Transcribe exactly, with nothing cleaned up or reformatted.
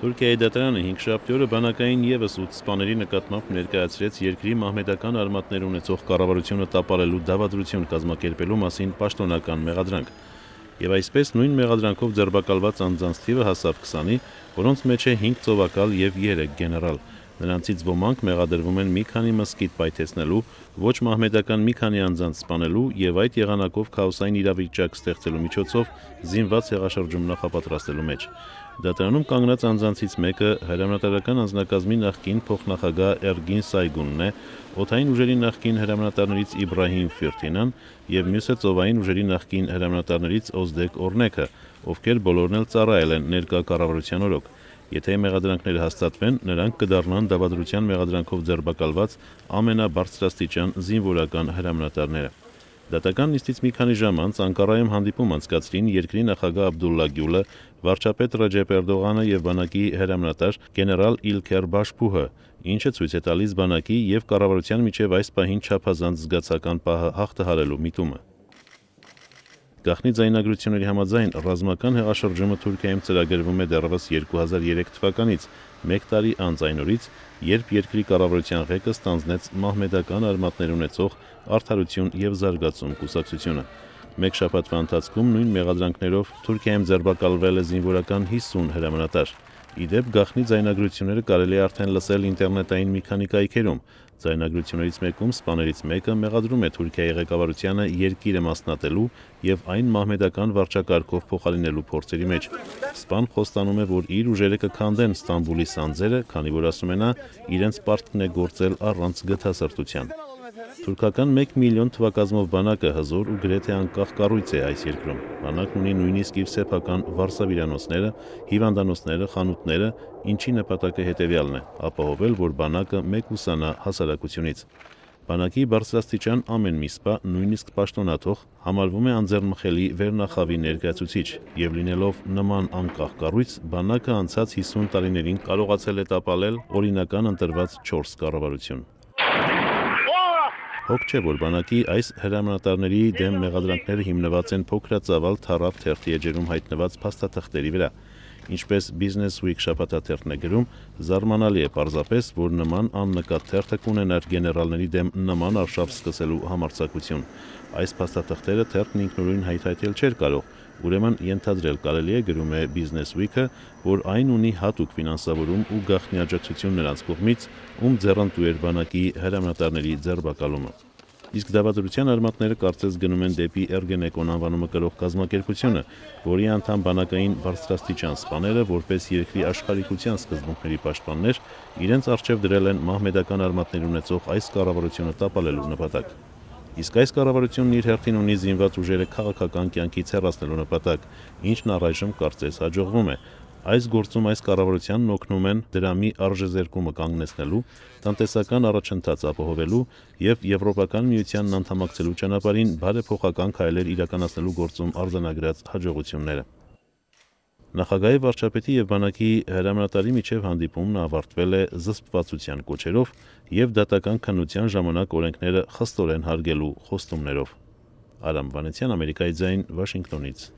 Թուրքիայի դատարանը հինգշաբթի օրը բանակային ևս ութ սպաների նկատմամբ ներկայացրեց երկրի մահմեդական արմատներ ունեցող կառավարությունը տապալելու դավադրություն կազմակերպելու մասին պաշտոնական մեղադրանք։ Եվ այսպես նույն մեղադրանքով ձերբակալված անձանց թիվը հասավ քսանի, որոնց մեջ է հինգ ծովակալ եւ երեք գեներալ։ Նրանցից ոմանք մեղադրվում են մի քանի մզկիթ պայթեցնելու, ոչ մահմեդական մի քանի անձանց սպանելու եւ այդ եղանակով քաոսային իրավիճակ ստեղծելու միջոցով զինված հեղաշրջում նախապատրաստելու մեջ։ Դատարանում կանգնած անձանցից մեկը հրամանատարական անձնակազմի նախկին փոխնախագահ Էրգին Սայգունն է, օդային ուժերի նախկին հրամանատարներից Իբրահիմ Ֆիրթինան եւ մյուսը ծովային ուժերի նախկին հրամանատարներից Օզդեկ Օրնեքը, ովքեր բոլորն էլ ծառայել են ներկա կառավարության օրոք։ Եթե մեղադրանքները հաստատվեն, նրանք կդառնան դավադրության մեղադրանքով ձերբակալված ամենաբարձրաստիճան զինվորական հրամանատարները։ Դատական նիստից մի քանի ժամ անց Անկարայում հանդիպում անցկացրին երկրի նախագահ Աբդուլլա Գյուլը, վարչապետ Ռաջեփ Էրդողանը եւ բանակի հրամանատար գեներալ Իլքեր Բաշփուհը, ինչը ցույց է տալիս բանակի եւ կառավարության միջև այս պահին չափազանց զգացական պահը հաղթահարելու միտումը։ Գաղտնի ձայնագրությունների համաձայն ռազմական հեղաշրջումը Թուրքիայում ծրագրվում է դեռևս երկու հազար երեք թվականից, մեկ տարի անց այն օրից, երբ երկրի կառավարության ղեկը ստանձնեց մահմեդական արմատներ ունեցող Արդարություն եւ զարգացում կուսակցությունը։ Մեկ շաբաթվա ընթացքում նույն մեղադրանքներով Թուրքիայում ձերբակալվել է զինվորական հիսուն հրամանատար։ Ի դեպ գաղտնի ձայնագրությունները կարելի է արդեն լսել ինտերնետային մի քանի կայքերում։ Ձայնագրություններից մեկում սպաներից մեկը մեղադրում է Թուրքիայի ղեկավարությանը երկիրը մասնատելու եւ այն մահմեդական վարչակարգով փոխարինելու փորձերի մեջ։ Սպան խոստանում է, որ իր ուժերը կքանդեն Ստամբուլի սանձերը, քանի որ ասում է նա, իրենց պարտքն է գործել առանց գթասրտության։ Թուրքական մեկ միլիոն թվակազմով բանակը հզոր ու գրեթե անկախ կառույց է այս երկրում։ Բանակն ունի նույնիսկ իր սեփական վարսավիրանոցները, հիվանդանոցները, խանութները, ինչի նպատակը հետևյալն է՝ ապահովել, որ բանակը մեկուսանա հասարակությունից։ Բանակի բարձրաստիճան ամեն մի սպա, նույնիսկ պաշտոնաթող, համարվում է անձեռնմխելի վերնախավի ներկայացուցիչ, եւ լինելով նման անկախ կառույց, բանակը անցած հիսուն տարիներին կարողացել է տապալել օրինական ընտրված չորս կառավարություն։ Հոգ չէ, որ բանակի այս հրամանատարների դեմ մեղադրանքները հիմնված են փոքրածավալ թառավ թերթի էջերում հայտնված փաստաթղթերի վրա։ Ինչպես Business Week շաբաթաթերթն է գրում, զարմանալի է պարզապես, որ նման աննկատ թերթը կունենար գեներալների դեմ նման արշավ սկսելու համարձակություն։ Այս փաստաթղթերը թերթն ինքնուրույն հայթայթել չէր կարող, ուրեմն ենթադրել կարելի է, գրում է Business Week-ը, որ այն ունի հատուկ ֆինանսավորում ու գաղտնի աջակցություն նրանց կողմից, ում ձեռնտու էր բանակի հրամանատարների ձերբակալումը։ Իսկ դավադրության արմատները կարծես գնում են դեպի Էրգենեկոն անվանումը կրող կազմակերպությունը, որի անդամ բանակային բարձրաստիճան սպաները, որպես երկրի աշխարհիկության սկզբունքների պաշտպաններ, իրենց առջև դրել են մահմեդական արմատներ ունեցող այս կառավարությունը տապալելու նպատակ։ Իսկ այս կառավարությունն իր հերթին ունի զինված ուժերը քաղաքական կյանքից հեռացնելու նպատակ, ինչն առայժմ կարծես հաջողվում է։ Այս գործում այս կառավարությանն օգնում են դրամի արժեզերկումը կանգնեցնելու, տնտեսական առաջընթաց ապահովելու եւ Եվրոպական միությանն անդամակցելու ճանապարհին բարեփոխական քայլեր իրականացնելու գործում արձանագրած հաջողությունները։ Նախագահի վարչապետի եւ բանակի հրամանատարի միջև հանդիպումն ավարտվել է զսպվածության կոչերով եւ դատական քննության ժամանակ օրենքները խստորեն հարգելու խոստումներով։ Արամ Վանեցյան, Ամերիկայի ձայն, Վաշինգտոնից։